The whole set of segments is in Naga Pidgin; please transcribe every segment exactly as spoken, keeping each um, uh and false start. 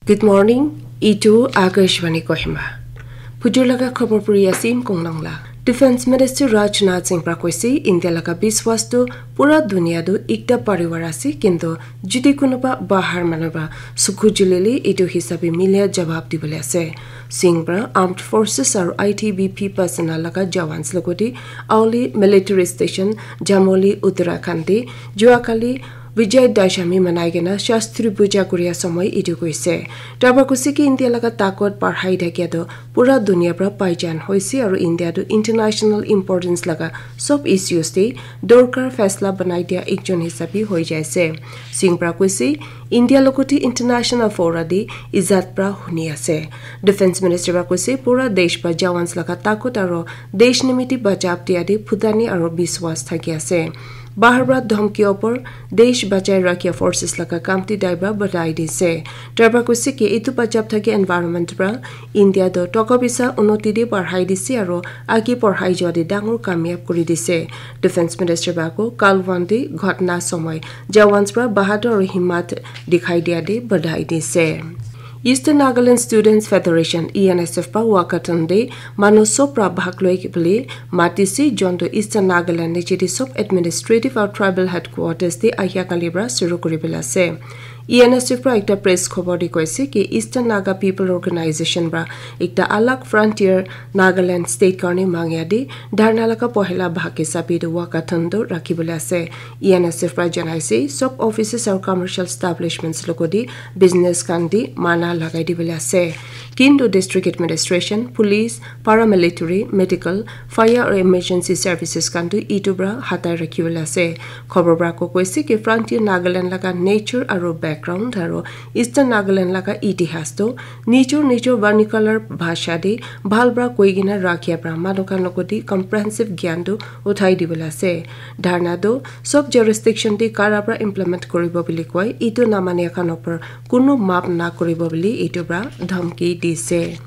Good morning, itu Akashvani Kohima. Phujur laga khobor puri asim konglong la. Defense Minister Rajnath Singh pra koise, India laga biswas tu pura dunia tu ekta parivar ase, kintu jodi kunuba bahar manu pra sukhu julile itu hisabe milia jawab dibole ase. Singh pra Armed Forces aru I T B P personnel laga jawans logoti Auli Military Station, Jamoli, Uttarakhand te jua kali Vijay Dashami manai kena Shastri Puja kuria samoi itu koise. Tarpa koise ki India laga takot parhai thakia tu pura dunia pra paijan hoise aru India tu international importance laga sob issues te dorkar faisla banai dia ekjon hisabe hoi jaise. Singh pra koise, India logoti international fora te izat pra huni ase. Defense Minister pra koise, pura desh pra jawans laga takot aru desh nimiti bachab dia te phutani aru biswas thaki ase. Bahar pra dhamki opor desh bachai rakhia forces laga kam te tai pra badai dise. Tarpa koise ki itu bachab thaki environment pra India do toka bisa unoti de parhai dise aru agi parhai jua de dangor kamyab kuri dise. Defense Minister ba ko Kalwan de ghotna samoi jawans pra bahadur aru himmat dikhai dia de badai dise. Eastern Nagaland Students Federation, E N S F, pa walkathon de manu sob pra bhag loi bole matise, jonto Eastern Nagaland niche de sob administrative aru tribal headquarters de ahia kali pra shuru kuri bole ase. E N S F pra ekta press khobor de koise ki Eastern Naga People Organization pra ekta alag frontier Nagaland state karne mangya de dharna laga pohela bhag hisabe de walkathon to rakhi bole ase. E N S F pra janaise, sob offices aru commercial establishments logoti business khan de mana lagai dibole ase. Kintu district administration, police, paramilitary, medical, fire aru emergency services khan tu itu pra hatai rakhi bole ase. Khobor pra ko koise ki frontier Nagaland laga nature aru background aru Eastern Nagaland laga itihas tu nijor nijor vernacular bhasha de bhal pra koi kena rakhia pra manu khan logoti comprehensive gyan tu uthai dibole ase. Dharna tu sob jurisdiction te kara pra implement kuribo bole koi, itu namania khan opor kunu maaf na kuribo bole itu pra dhamki dise.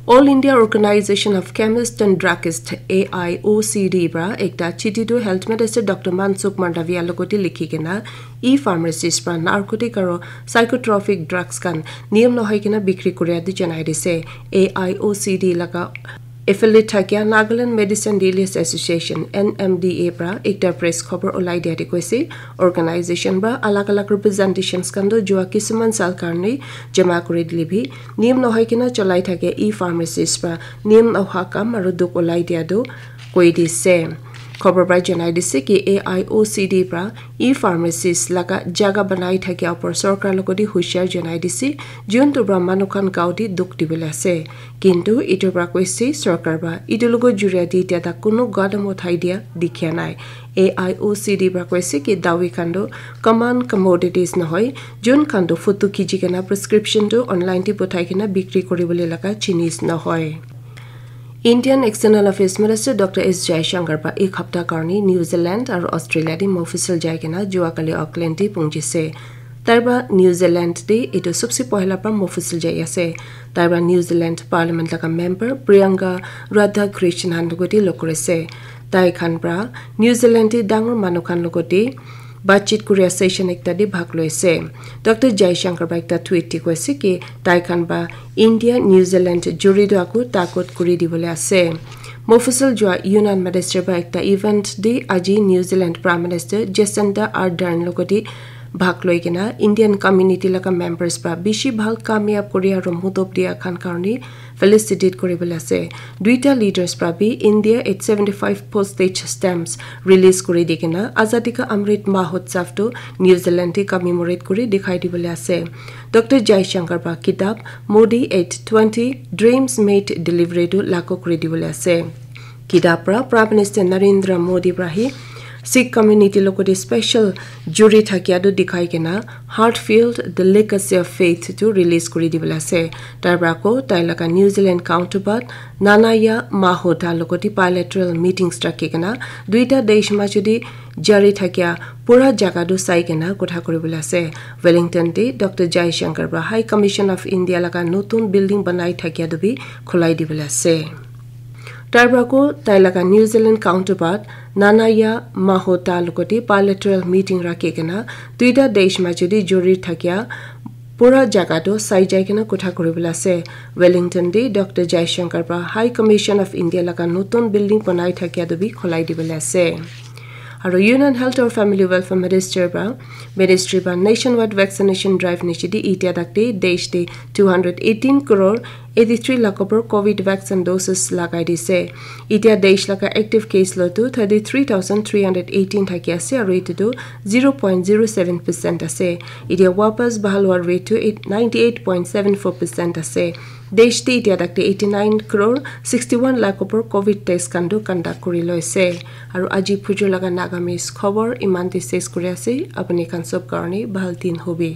All India Organization of Chemists and Druggists, A I O C D, pra ekta chiti tu Health Minister Doctor Mansukh Mandaviya logoti likhi kena e-pharmacies pra narcotic aru psychotropic drugs khan niyam nohoi kena bikri kuria di janai dise. A I O C D laga affiliate thakia Nagaland Medicine Dealers Association, N M D A, pra ekta press khobor ulai dia de koise, organization pra alag alag representations khan to jua kisuman sal karne jama kuri dile bi niyam nohoi kena cholai thake e-pharmacies pra niyam noha kam aru dukh ulai dia tu koi dise. Khobor pra janai dise ki A I O C D pra e-pharmacies laga jaga banai thakia opor sorkar logoti hushiar janai dise, juntu pra manu khan gao te dukh dibole ase. Kintu itu pra koise sorkar pra itu logo juria di tia tak kunu gadam uthai dia dikhia nai. A I O C D pra koise ki dawi khan tu common commodities nohoi, jun khan tu photo khiji kena prescription tu online te puthai kena bikri kuri bole laga jinis nohoi. Indian External Affairs Minister Doctor S Jaishankar pa ek hapta karni New Zealand aru Australia di mofusal jai kena jua kali Auckland di pungjise. Tai pa New Zealand di itu subse pohela pa mofusal jai ase. Tai pa New Zealand Parliament laga member Priyanka Radhakrishnan logoti log kurise. Tai khan pra New Zealand di dangor manu khan logoti batchit kuria session ekta di bhag loise. Doctor Jaishankar pa ekta tweet di koise ki tai khan pa India New Zealand juri do aku takot kuri dibole ase. Mofusal jua Union Minister pa ekta event di aji New Zealand Prime Minister Jacinda Ardern logoti bhag loi kena Indian community laga members pra bishi bhal kamyab kuri aru mudop dia khan karni felicitate kuri bole ase. Duita leaders pra bi India eight seventy five postage stamps release kuri di kena Azadi ka Amrit Mahotsav tu New Zealand te commemorate kuri dikhai dibole ase. Doctor Jaishankar pa kitab Modi eight twenty Dreams Made Delivery tu lagu kuri dibole ase. Kitab pra Prime Minister Narendra Modi pra hi Sikh community logoti special juri thakia tu dikhai kena Heartfelt, The Legacy of Faith tu release kuri dibole ase. Tai pra ko tai laga New Zealand counterpart Nanaya Mahota logoti bilateral meetings rakhi kena duita desh majudi jari thakia pura jaga tu sai kena kotha kuri bole ase. Wellington te Doctor Jaishankar pra High Commission of India laga notun building banai thakia tu bi khulai dibole ase. Tai pra ko tai laga New Zealand counterpart Nanaya Mahota logoti bilateral meeting rakhi kena duita desh majudi juri thakia pura jaga tu sai jai kena kotha kuribole ase. Wellington te Doctor Jaishankar para High Commission of India laga notun building banai thakia tu bi khulai dibole ase. Aru Union Health or Family Welfare Minister para, Ministry para nationwide vaccination drive niche te itia tak te desh te two hundred eighteen crore eighty-three lakh upor covid vaccine doses lagai dise. Itia desh laga active case lo tu thirty-three thousand three hundred eighteen thaki ase aru itu tu zero point zero seven percent ase. Itia wapas bahal hua rate tu eight, ninety-eight point seven four percent ase. Desh te itia tak te eighty-nine crore sixty-one lakh upor covid test khan tu conduct kuri loise. Aru aji phujur laga Nagamese khobor iman te ses kuri ase. Apuni khan sob karone bahal din hobi.